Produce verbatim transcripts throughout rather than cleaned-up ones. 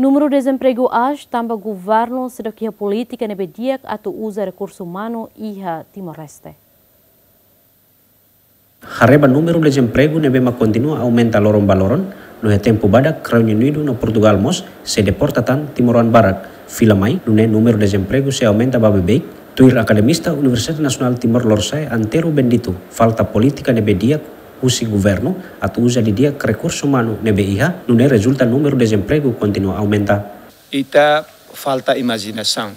Númeru dezempregu aas tanba governu seidauk iha polítika ne'ebé di'ak atu uza rekursu umanu iha Timor-Leste. Haree ba númeru dezempregu ne'ebé mak kontinua aumenta loron ba loron, no iha tempu badak Reinu Unidu no Portugál mós sei deporta tan timoroan barak. Fila mai, nune'e númeru dezempregu sei aumenta ba beibeik, tuir akademista Universidade Nasionál Timor Lorosa'e Antero Bendito, falta polítika ne'ebé di'ak husi governu atu uza didi'ak rekursu umanu ne'ebé iha, nune'e rezulta númeru dezempregu kontinua aumenta. Ita falta imajinasaun.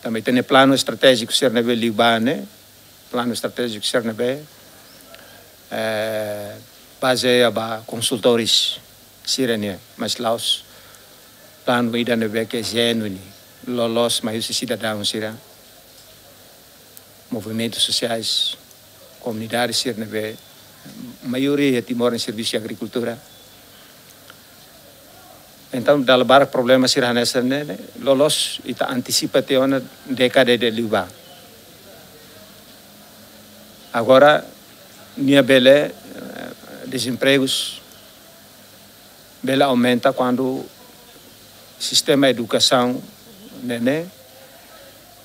Tanba ita-nia planu estratéjiku sira ne'ebé liubá ne'e, planu estratéjiku sira ne'ebé, eh, bazeia ba konsultores sira-nian, mas la'ós planu ida ne'ebé ke jenuínu, loloos mai husi sidadaun sira, movimentus sosiais, komunidade sira ne'ebé maioria iha Timor ne'e servisu iha agrikultura. Entaun, dala barak problema sira hanesan ne'e, ne'e, loloos ita antisipa tiha ona dékada ida liubá. Agora, nia bele, eh, dezempregus bele aumenta kuandu sistema edukasaun ne'e, ne'e,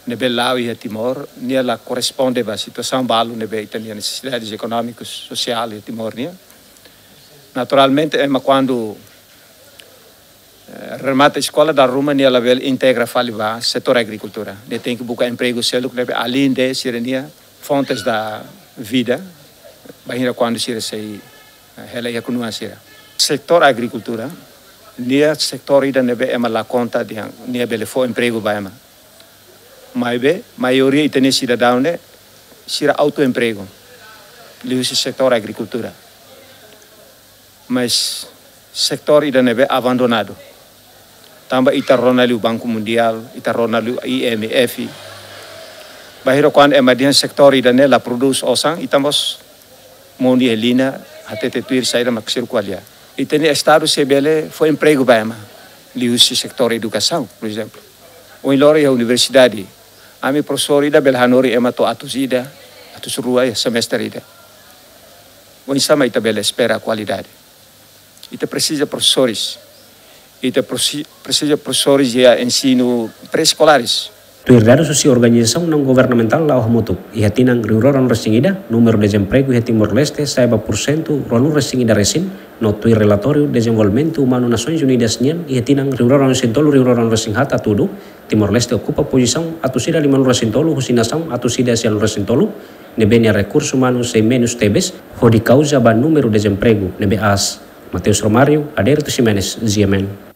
ne'ebé la'o iha Timor, nia la korresponde ba situasaun balu ne'ebé ita-nia nesesidades ekonómikus, sosiál iha Timor nian. Naturalmente, ema kuandu, eh, remata eskola dala ruma nia labele integra fali ba setór agrikultura. Nia tenke buka empregu seluk ne'ebé além de sira-nia fontes da vida, bainhira kuandu sira sei, eh, hela iha knuan sira. Setór agrikultura, nia setór ida ne'ebé ema la konta dehan nia bele fó empregu ba ema. Maibé, maioria ita-nia sidadaun ne'e, sira autoempregu, liuhusi setór agrikultura. Mas setór ida ne'ebé abandonadu. Tanba ita rona liu Banku Mundiál, ita rona liu I M F. Bainhira kuandu ema dehan setór ida-ne'e la prodús osan, ita mós monu iha liña, hatete tuir saida mak sirkula. Ita-nia Estadu sei bele fó empregu ba ema, liuhusi setór edukasaun, por ezemplu. Ohin loron iha universidade, ami profesór ida bele hanorin ema to'o atus ida, atus rua iha semestre ida. Oinsá mak ita bele espera kualidade? Ita presiza profesores. Ita presi-, presiza profesores iha ensinu pré-eskolares. Tuir dadus husi organizasaun naun-governamentál La'o Hamutuk, iha tinan rihun rua ruanulu-resin-ida, númeru dezempregu iha Timor-Leste sa'e ba pursentu ruanulu-resin-ida resin, no tuir relatóriu dezenvolvimentu umanu Nasoins Unidas nian, iha tinan rihun rua ruanulu-resin-tolu rihun rua ruanulu-resin-haat hatudu, Timor-Leste okupa pozisaun atus ida limanulu-resin-tolu husi nasaun atus ida sianulu-resin-tolu, ne'ebé nia rekursu umanu sei menus tebes, hodi kauza ba númeru dezempregu ne'ebé aas. Mateus Romário, Adérito Ximenes, G M N.